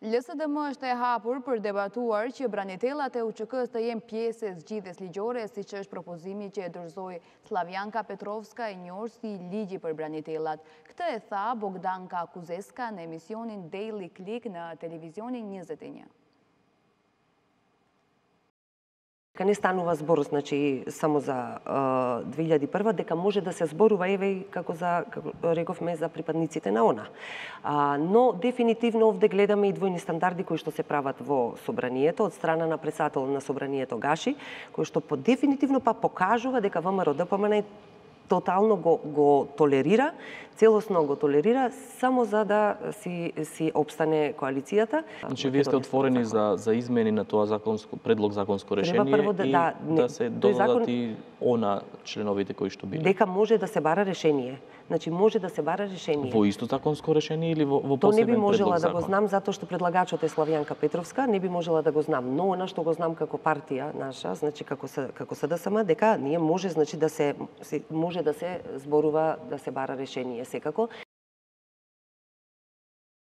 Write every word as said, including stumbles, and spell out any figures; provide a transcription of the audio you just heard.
L S D M është e hapur për debatuar që branitelat e U Q K-s të jenë pjesë e zgjidhjes ligjore, siç është propozimi që e dorëzoi Slavjanka Petrovska, e njohur si ligji për branitelat. Këtë e tha Bogdanka Kuzeska në emisionin Daily Click në televizionin njëzet e një. Не станува збор, значи, само за две илјади и прва, дека може да се зборува, еве, како за, како рековме, за припадниците на она. А, но, дефинитивно, овде гледаме и двојни стандарди кои што се прават во Собранието, од страна на председател на Собранието Гаши, кој што по дефинитивно па покажува дека ВМРО Д П М Н тотално го, го толерира, целосно го толерира, само за да си, си обстане коалицијата. Значи, вие сте отворени за, за измени на тоа законско, предлог законско решение прво да, и да, да се додадат закон, и она членовите кои што били. Дека може да се бара решение. Значи, може да се бара решение. Во исто законско решение или во, во То посебен не би можела предлог да го знам, затоа што предлагачот е Славјанка Петровска, не би можела да го знам. Но она што го знам како партија наша, значи како се како С Д С М, дека ние може, значи, да се може да се зборува, да се бара решение секако.